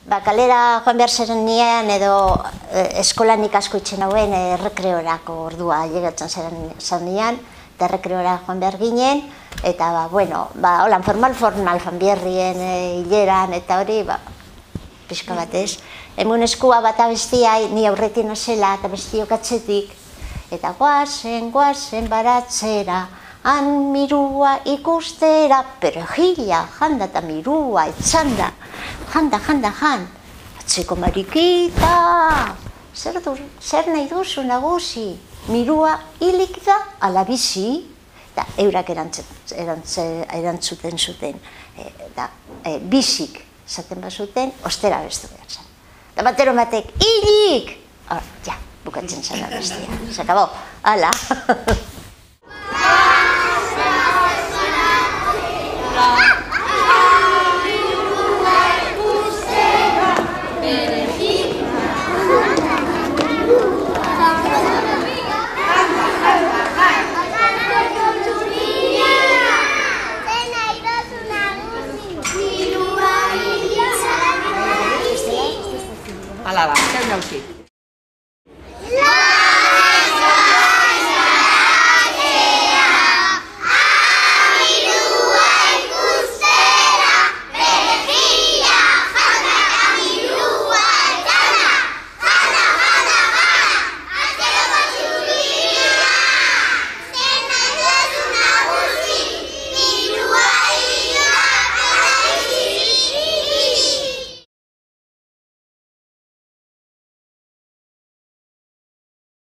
Kalera joan behar zeren nian edo eskolan ikasko itxen hauen errekreorako ordua llegatzen zen nian, eta errekreora joan behar ginen, eta, holan formal fanbierrien hileran, eta hori, pixka batez. Hemen eskua bat abestia, ni aurretin azela, eta bestiok atzetik, eta guazen baratzera, han mirua ikustera, perejila, janda eta mirua, etxanda, janda, atzeko marikita, zer nahi duzu nagusi, mirua hilik da ala bizi, eta eurak erantzuten zuten, bizik zaten bazuten, ostera bestu behar zen. Eta batero batek, hilik! Ja, bukatzen zen abestia, se acabó, hala.